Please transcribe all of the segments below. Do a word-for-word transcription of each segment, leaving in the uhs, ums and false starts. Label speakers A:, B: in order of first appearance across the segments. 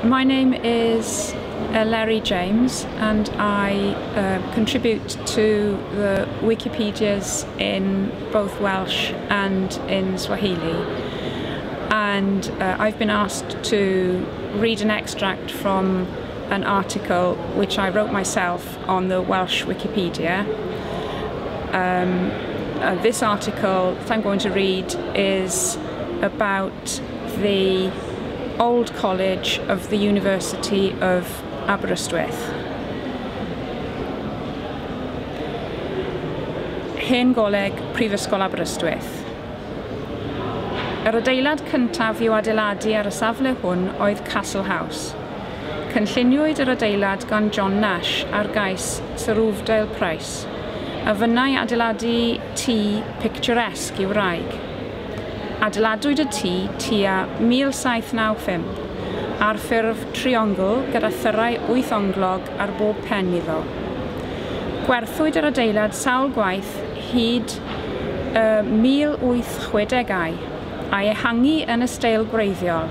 A: My name is Eleri James and I uh, contribute to the Wikipedias in both Welsh and in Swahili. And uh, I've been asked to read an extract from an article which I wrote myself on the Welsh Wikipedia. Um, uh, this article that I'm going to read is about the Old College of the University of Aberystwyth. Hen Goleg, Prifysgol Aberystwyth. Yr adeilad cyntaf i'w adeiladu ar y safle hwn oedd Castle House. Cynlluniwyd yr adeilad gan John Nash ar gais Sir Uvedale Price, a fynnai adeiladu tŷ picturesque i'w wraig. Adeiladwyd y tŷ tua mil saith naw pump ar ffurf triongl gyda thyrau wyth onglog ar bob pen iddo. Gwerthwyd yr adeilad sawl gwaith hyd y mil wyth chwedegau a'i ehangu yn y steil gwreiddiol.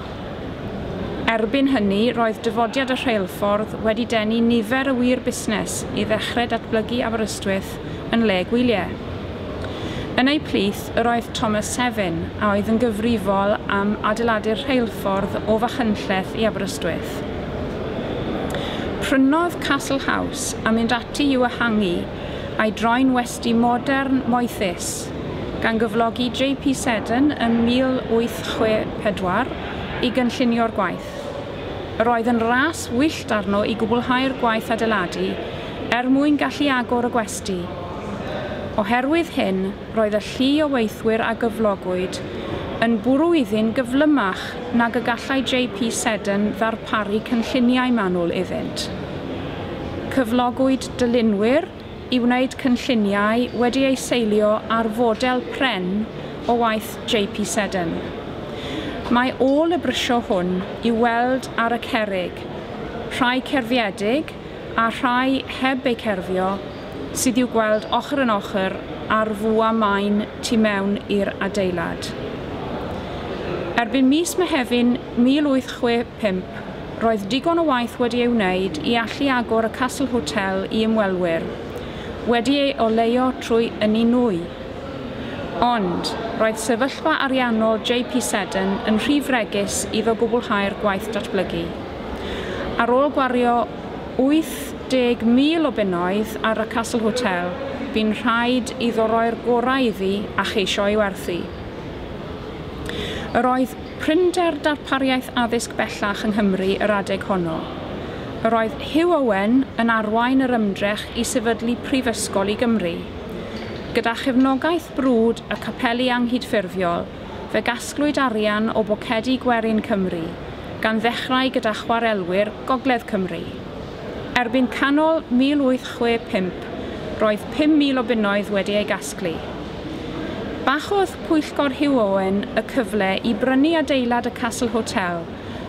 A: Erbyn hynny, roedd dyfodiad y rheilffordd wedi denu nifer y wir busnes i ddechrau datblygu Aberystwyth yn le gwyliau. Yn ei plith, yr oedd Thomas Sevin, a oedd yn gyfrifol am adeiladu'r rheilffordd o Fachynlleth i Aberystwyth. Prynodd Castle House a mynd ati i'w ehangu a'i droi'n westy modern moethus, gan gyflogi J P Seddon ym mil wyth chwe pedwar i gynllunio'r gwaith. Yr oedd yn ras wyllt arno i gwblhau'r gwaith adeiladu er mwyn gallu agor y gwesty. Oherwydd hyn, roedd y llu o weithwyr a gyflogwyd yn bwrw iddyn gyflymach nag y gallai J P Seddon ddarparu cynlluniau manwl iddynt. Cyflogwyd dylunwyr i wneud cynlluniau wedi eu seilio ar fodel pren o waith J P Seddon. Mae ôl y brysio hwn i'w weld ar y cerrig, rhai cerfiedig a rhai heb eu cerfio, sydd i'w gweld ochr yn ochr ar fwa maen tu mewn i'r adeilad. Erbyn mis Mehefin mil wyth chwe pump, roedd digon o waith wedi ei wneud i allu agor y Castle Hotel i ymwelwyr, wedi ei oleuo trwy ynni nwy. Ond, roedd sefyllfa ariannol J P Seddon yn rhy fregus iddo gwblhau'r gwaith datblygu. Ar ôl gwario wyth deg mil o bunnoedd ar y Castle Hotel, bu'n rhaid iddo roi'r gorau iddi a cheisio ei werthu. Yr oedd prinder darpariaeth addysg bellach yng Nghymru yr adeg honno. Yr oedd Hugh Owen yn arwain yr ymdrech i sefydlu prifysgol i Gymru. Gyda chefnogaeth brwd y capeli anghydffurfiol, fe gasglwyd arian o bocedi gwerin Cymru, gan ddechrau gyda chwarelwyr Gogledd Cymru. Erbyn canol mil wyth chwe pump, roedd pum mil o bunnoedd wedi ei gasglu. Bachodd Pwyllgor Hugh Owen y cyfle i brynu adeilad y Castle Hotel,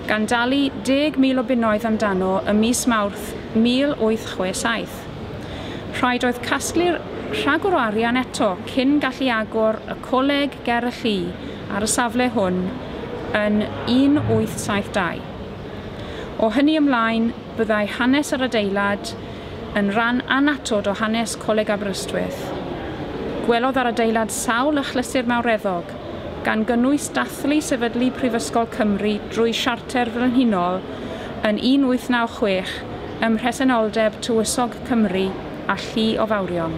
A: gan dalu deg mil o bunnoedd amdano ym mis Mawrth mil wyth chwe saith. Rhaid oedd casglu'r rhagor o arian eto cyn gallu agor y coleg ger y llu ar y safle hwn yn un wyth saith dau. O hynny ymlaen, byddai hanes yr adeilad yn rhan annatod o hanes Coleg Aberystwyth. Gwelodd yr adeilad sawl achlysur mawreddog, gan gynnwys dathlu sefydlu Prifysgol Cymru drwy Siarter Frenhinol yn un wyth naw chwech ym mhresenoldeb Tywysog Cymru a llu o fawrion.